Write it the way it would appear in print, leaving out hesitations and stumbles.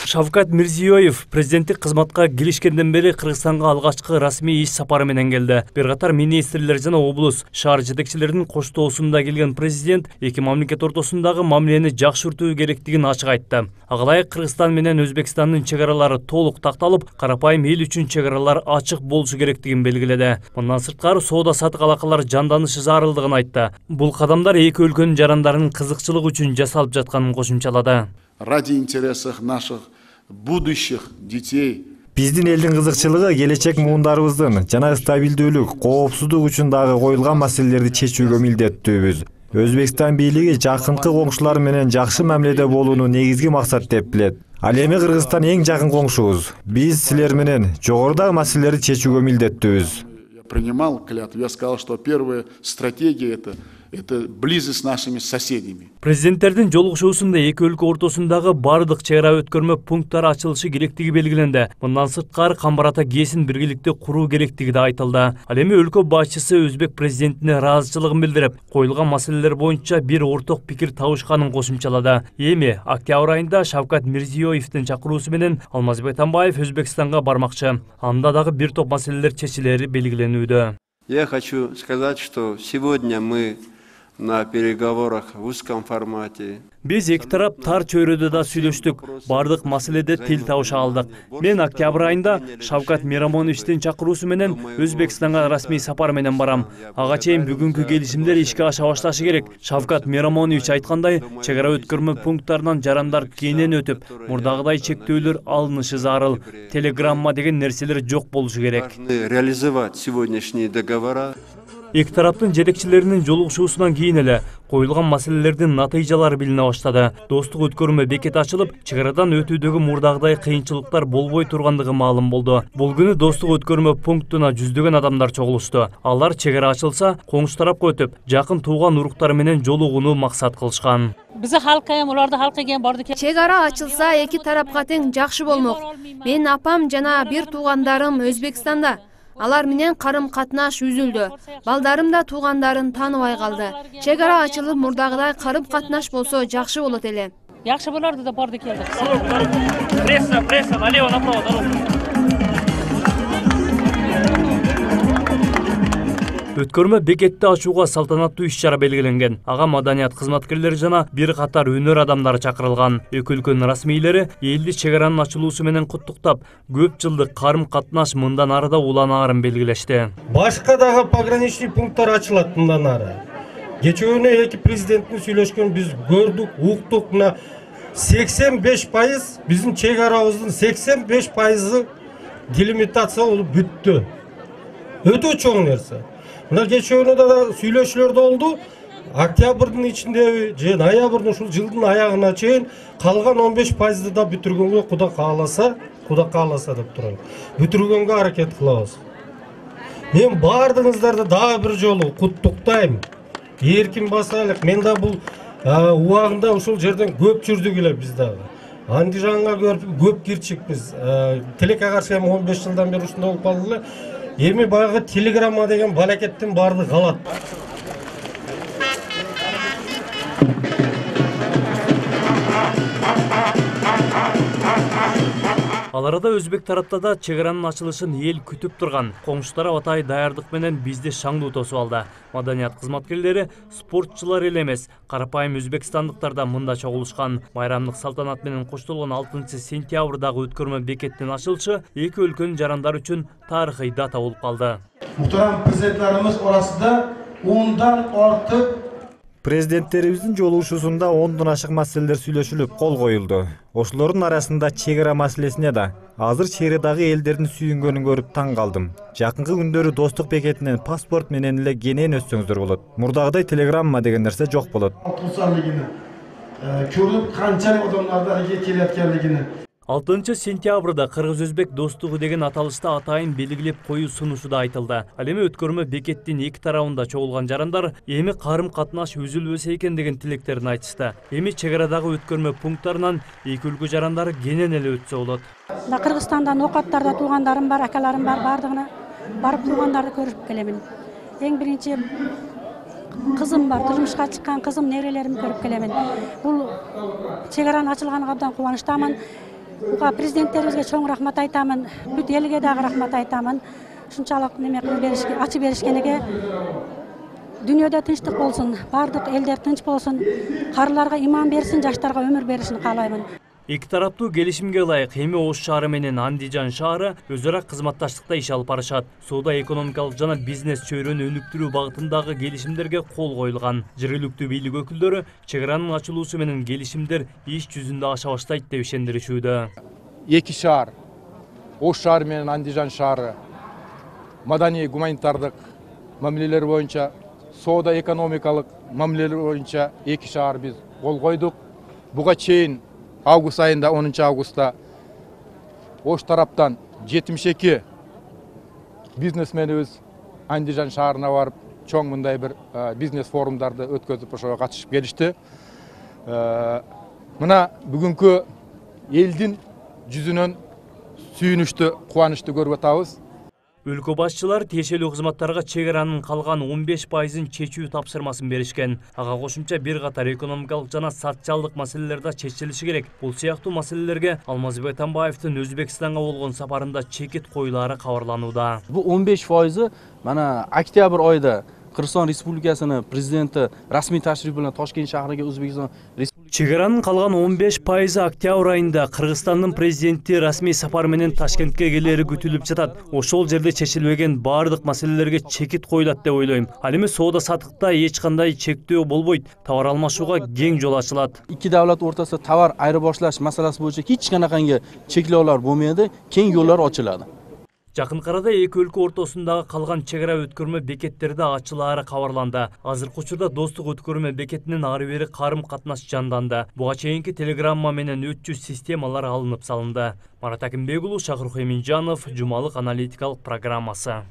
Шавкат Мирзиёев президенттик кызматка киришкенден бери Кыргызстанга алгачкы расмий иш сапары менен келди. Бир катар министрлер жана облус, шаар жетекчилеринин коштоосунда келген президент эки мамлекет ортосундагы мамилени жакшыртуу керектигин ачык айтты. Ага Кыргызстан менен Өзбекстандын чек аралары толук такталып, карапайым эл үчүн чек аралар ачык болушу керектигин белгиледи. Мындан сырткары соода сатык алакалар жанданышы зарылдыгын айтты. Бул кадамдар эки өлкөнүн жарандарынын кызыкчылыгы үчүн жасалып жатканын кошумчалады. Ради интересов наших будущих детей. Биздин элдин кызыкчылыгы келечек муундарыбыздын жана стабилдүүлүк, коопсуздук үчүн дагы коюлган маселелерди чечүүгө милдеттүүбүз. Өзбекстан бийлиги жакынкы коңшулар менен жакшы мамиледе болууну негизги максат деп билет. Ал эми Кыргызстан эң жакын коңшубуз. Биз силер менен жогорудагы маселелерди чечүүгө милдеттүүбүз. Я принимал клятву, я сказал, что первая стратегия это близость с нашими соседями. Президенттердин жолугушуусунда эки өлкө ортосундагы бардык чек ара өткөрмө пункттары ачылышы керектиги белгиленди. Мындан сырткары Камбарата ГЭСин биргеликте куруу керектиги да айтылды. Ал эми өлкө башчысы өзбек президентине ыраазычылыгын билдирип, коюлган маселелер боюнча бир орток пикир табышканын кошумчалады. Эми октябрь айында Шавкат Мирзиёевдин чакыруусу менен Алмазбек Атамбаев Өзбекстанга бармакчы. Анда дагы бир топ маселелер чечилери белгиленүүдө. Я хочу сказать, что сегодня мы на переговорах в узком формате. Биз эки тарап тар чөйрөдө да сүйлөштүк, бардык маселеде тил табыша алдык. Мен октябрь айында Шавкат Мирамоновичтин чакыруусу менен Өзбекстанга расмий сапар менен барам. Ага чейин бүгүнкү келишимдер ишке аша башташы керек. Шавкат Мирамонович айткандай, чек ара өткөрмө пункттарынан жарандар кенен өтүп, мурдагыдай чектөөлөр алынышы зарыл. Телеграмма деген нерселер жок болушу керек. Реализовать сегодняшние договора. Эки тараптын жетекчилеринин жолугушуусунан кийин эле коюлган маселелердин натыйжалары билине баштады. Достук өткөрмө бекети ачылып, чек арадан өтүүдөгү мурдагыдай кыйынчылыктар болбой тургандыгы маалым болду. Бул күнү достук өткөрмө пунктуна жүздөгөн адамдар чогулушту. Алар чек ара ачылса, коңшу тарапка өтүп, жакын тууган уруктары менен жолугууну максат кылышкан. Биздин халкка эми уларды халкы экен барды. Чек ара ачылса, эки тарапка тең жакшы болмок. Менин апам жана бир туугандарым Өзбекстанда. Алар менен карым-катнаш үзүлдү. Балдарым да туугандарын тааныбай калды. Чек ара ачылып, мурдагыдай карым-катнаш болсо жакшы болот эле. Жакшы болорду да барды келдик. Пресса, налево, направо, дорога. Өткөрмө бекетти ачууга салтанаттуу иш-чара белгиленген. Ага маданият кызматкерлери жана бир катар өнөр адамдары чакырылган. Эки өлкөнүн расмийлери элди чек аранын ачылуусу менен куттуктап, көп жылдык карым-катнаш мындан ары да уланаарын белгилешти. Башка дагы пограничный пункттар ачылат мындан ары. Кечүүнү эки президенттин сүйлөшкөнүн биз көрдүк, уктук. Мына 85% биздин чек арабыздын 85% делимитация болуп бүттү. Өтө чоң нерсе. Мына кечүүнү да сүйлөшүүлөр болду. Октябрдын ичинде же ноябрдын ушул жылдын аягына чейин калган 15%ды да бүтүргөнгө Кудай кааласа деп турам. Бүтүргөнгө аракет кылабыз. Мен бардыгыңыздарды дагы бир жолу куттуктайм. Эркин басайлык. Мен да бул убагында ушул жерден көп жүрдүк эле биз дагы. Андижанга көп кирчикпиз. Тилекке каршы 15 жылдан бери ушунда болуп калдык эле. Эми баягы телеграмма деген балакеттин баардыгы калат. Ал арада өзбек тарапта да чек аранын ачылышын эл күтүп турган. Коңшу тарап атайын даярдык менен бизди шаңдуу тосуп алды. Маданият кызматкерлери спортчулар эле эмес, карапайым өзбекстандыктар да мында чогулушкан. Майрамдык салтанат менен коштолгон 6-сентябрдагы өткөрмө бекеттин ачылышы эки өлкөнүн жарандары үчүн тарыхый дата болуп калды. Мухтарам президенттерибиз арасында 10дан артык Президенттерибиздин жолугушуусунда 10дон ашык маселелер сүйлөшүлүп, кол коюлду. Ошолордун арасында чек ара маселесине да азыр чек арадагы элдердин сүйүнгөнүн көрүп таң калдым. Жакынкы күндөрү достук бекетинен паспорт менен эле кенен өтсөңүздөр болот. Мурдагыдай телеграмма деген нерсе жок болот. Көрүп канчалык адамдарды келеткенлигини. 6-сентябрда Кыргыз-Өзбек достугу деген аталышта атайын белгилеп коюу сунушу да айтылды. Ал эми өткөрмө бекеттин эки тарабында чогулган жарандар эми карым-катнаш үзүлбөсө экен деген тилектерин айтышты. Эми чек арадагы өткөрмө пункттарынан эки өлкө жарандары кенен эле өтсө болот. Кыргызстандан окаттарда туугандарым бар, акаларым бар, бардыгына барып туугандарды көрүп келемин. Эң биринчи кызым бар, турмушка чыккан кызым, нерелеримди көрүп келемин. Бул чек аранын ачылганына абдан кубанычтамын. буга президенттерибизге чоң рахмат айтамын, бүт элге дагы рахмат айтамын. Ушунчалык неме кылып беришке, ачып беришкениге. Дүйнөдө тынчтык болсун, бардык элдер тынч болсун, карыларга иман берсин, жаштарга өмүр беришин каалаймын. Эки тараптуу келишимге ылайык эми Ош шаары менен Андижан шаары өз ара кызматташтыкта иш алып барышат. Соода экономикалык жана бизнес чөйрөнү өнүктүрүү багытындагы келишимдерге кол коюлган. Жергиликтүү бийлик өкүлдөрү чек аранын ачылуусу менен келишимдер иш жүзүндө аша баштайт деп ишендиришүүдө. Эки шаар, Ош шаары менен Андижан шаары маданий гуманитардык мамилелер боюнча, соода экономикалык мамилелер боюнча эки шаар биз кол койдук. Буга чейин август айында 10 августта Ош тараптан 72 бизнесменибиз Андижан шаарына барып, чоң мындай бир бизнес форумдарды өткөзүп ошого катышып келишти. Мына бүгүнкү элдин жүзүнөн сүйүнүштү, кубанычты көрүп атабыз. Өлкө башчылары тиешелүү кызматтарга чек аранын калган 15%-ын чечүү тапшырмасын беришкен. Ага кошумча бир катар экономикалык жана социалдык маселелер да чечилиши керек. Бул сыяктуу маселелерге Алмазбек Атамбаевдин Өзбекстанга болгон сапарында чекит коюлары кабарланууда. Бул 15%ы мана октябрь айында Кыргызстан Республикасынын президенти расмий ташриф менен Тошкент шаарына Өзбекстан Чек аранын калган 15%-ы октябрь айында Кыргызстандын президенти расмий сапар менен Ташкентке келери күтүлүп жатат. Ошол жерде чечилбеген бардык маселелерге чекит коюлат деп ойлойм. Ал эми соода саттыкта эч кандай чектөө болбойт. Товар алмашууга кең жол ачылат. Эки давлат ортосунда товар айырбашташ маселеси боюнча эч канакай чеклөөлөр болмойт, кең жолдор ачылат. Жакын арада эки өлкө ортосундагы калган чек ара өткөрмө бекеттерди ачылаары кабарланды. Азыркы учурда достук өткөрмө бекетинин ары бери карым катнаш жанданды. Буга чейинки телеграмма менен өтчү системалар алынып салынды. Марат Акимбек уулу, Шакыркой Минжанов, Жумалык аналитикалык программасы.